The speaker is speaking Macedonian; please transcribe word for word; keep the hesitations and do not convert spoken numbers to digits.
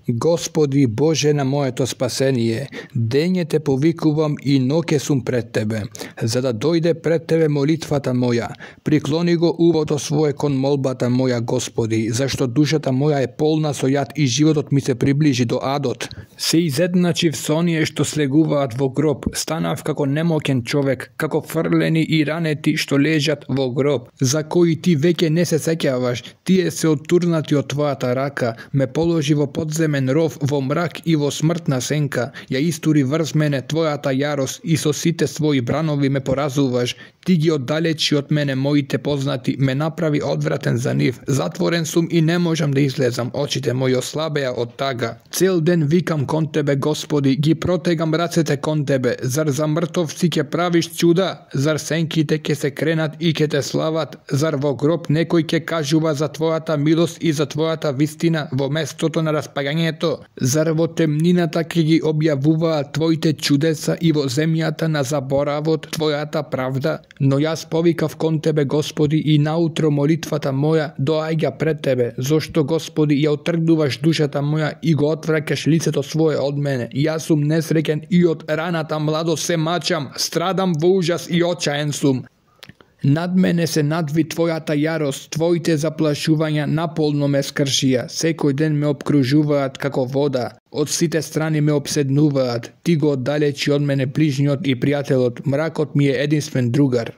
Господи Боже на моето спасение, дење те повикувам и ноќе сум пред Тебе, за да дојде пред Тебе молитвата моја. Приклони го увото свое кон молбата моја, Господи, зашто душата моја е полна со јад и животот ми се приближи до адот. Се изедначив со оние што слегуваат во гроб, станав како немоќен човек, како фрлени и ранети што лежат во гроб, за кои Ти веќе не се сеќаваш. Тие се оттурнати од Твојата рака, ме положи во подземен ров, во мрак и во смртна сенка. Ја истури врз мене Твојата јарост и со сите своји бранови ме поразуваш. Ти ги оддалечи од мене моите познати, ме направи одвратен за нив. Затворен сум и не можам да излезам, очите мои ослабеа од тага. Цел ден викам кон Тебе, Господи, ги протегам рацете кон Тебе. Зар за мртовци ќе правиш чуда? Зар сенките ќе се кренат и ќе те слават? Зар во гроб некој ќе кажува за Твојата милост и за Твојата вистина во местото на распагањето? Зар во темнината ќе ги објавуваат Твоите чудеса и во земјата на заборавот Твојата правда? Но јас повикав кон Тебе, Господи, и наутро молитвата моја доаѓа пред Тебе, зошто, Господи, ја отргнуваш душата моја и го отвраќаш лицето свое од мене. Јас сум несреќен и од раната младост се мачам, страдам во ужас и очаен сум. Над мене се надви Твојата јарост, Твоите заплашувања наполно ме скршија, секој ден ме обкружуваат како вода, од сите страни ме обседнуваат, Ти го оддалечи од мене ближниот и пријателот, мракот ми е единствен другар.